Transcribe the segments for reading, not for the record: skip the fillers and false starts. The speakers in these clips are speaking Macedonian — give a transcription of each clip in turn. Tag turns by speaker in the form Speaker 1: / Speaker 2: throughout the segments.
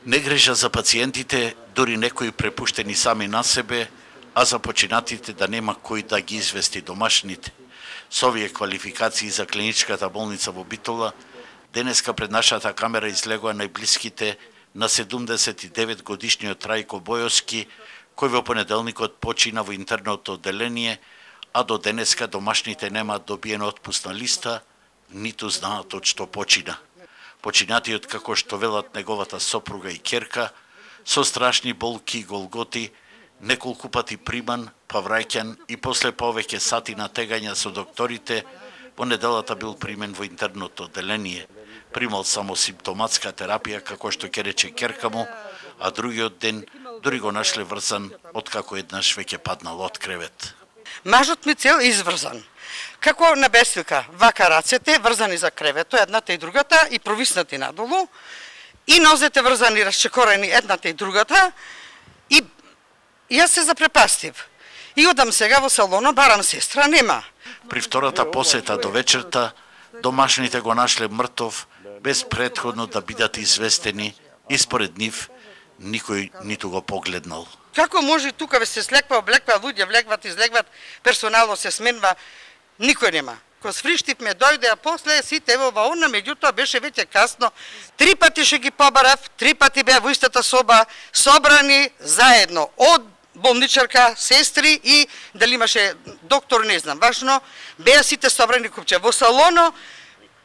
Speaker 1: Не грижа за пациентите, дури некои препуштени сами на себе, а за починатите да нема кој да ги извести домашните. Со овие квалификации за клиничката болница во Битола, денеска пред нашата камера излегува најблиските на 79 годишниот Трајко Бојовски, кој во понеделникот почина во интерното одделение, а до денеска домашните немаат добиена отпусна листа, ниту знаат од што почина. Починатиот, како што велат неговата сопруга и ќерка, со страшни болки и голготи, неколку пати приман, па враќан и после повеќе сати на тегања со докторите, во неделата бил примен во интерното одделение. Примал само симптоматска терапија, како што ќе рече ќерка му, а другиот ден дури го нашле врзан, откако еднаш веќе паднал од кревет.
Speaker 2: Мажот ми цел изврзан. Како на бесилка, вака рацете врзани за кревето, едната и другата, и провиснати надолу, и нозете врзани расчекорени едната и другата, и јас се запрепастив. И одам сега во салона, барам сестра, нема.
Speaker 1: При втората посета до вечерта, домашните го нашле мртов, без претходно да бидат известени, и според нив, никој ниту го погледнал.
Speaker 2: Како може тука ве се слеква, облеква, луѓе влегват, излегват, персонално се сменва, никој нема. Ко свриштивме дојде, а после сите во ваона, меѓутоа беше веќе касно. 3 пати ше ги побарав, 3 пати беа во истата соба, собрани заедно, од болничарка, сестри и дали имаше доктор, не знам, важно, беа сите собрани купче. Во салоно,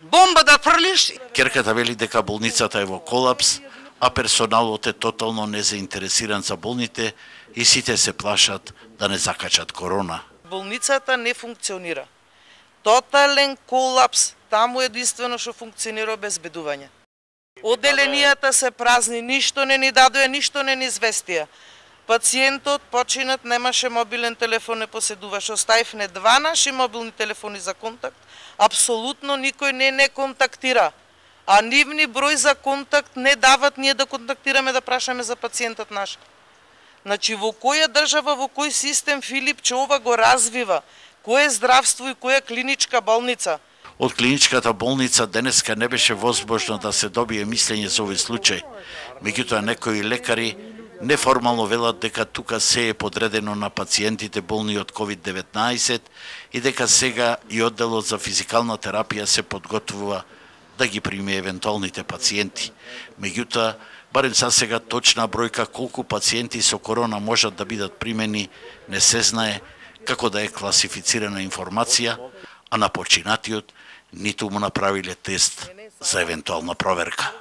Speaker 2: бомба да фрлиш.
Speaker 1: Ќерката вели дека болницата е во колапс, а персоналот е тотално незаинтересиран за болните и сите се плашат да не закачат корона.
Speaker 3: Болницата не функционира. Тотален колапс, таму единствено што функционира обезбедување. Одделенијата се празни, ништо не ни дадоа, ништо не ни известија. Пациентот починат, немаше мобилен телефон, не поседуваше. Оставивме 2 наши мобилни телефони за контакт. Апсолутно никој не контактира. А нивни број за контакт не дават ние да контактираме, да прашаме за пациентот наш. Значи, во која држава, во кој систем Филипче ова го развива? Кој е здравство и која клиничка болница?
Speaker 1: Од клиничката болница денеска не беше возможно да се добие мислење за овој случај. Меѓутоа некои лекари неформално велат дека тука се е подредено на пациентите болни од COVID-19 и дека сега и одделот за физикална терапија се подготвува да ги прими евентуалните пациенти. Меѓутоа, барем за сега точна бројка колку пациенти со корона можат да бидат примени не се знае, како да е класифицирана информација, а на починатиот ниту му направиле тест за евентуална проверка.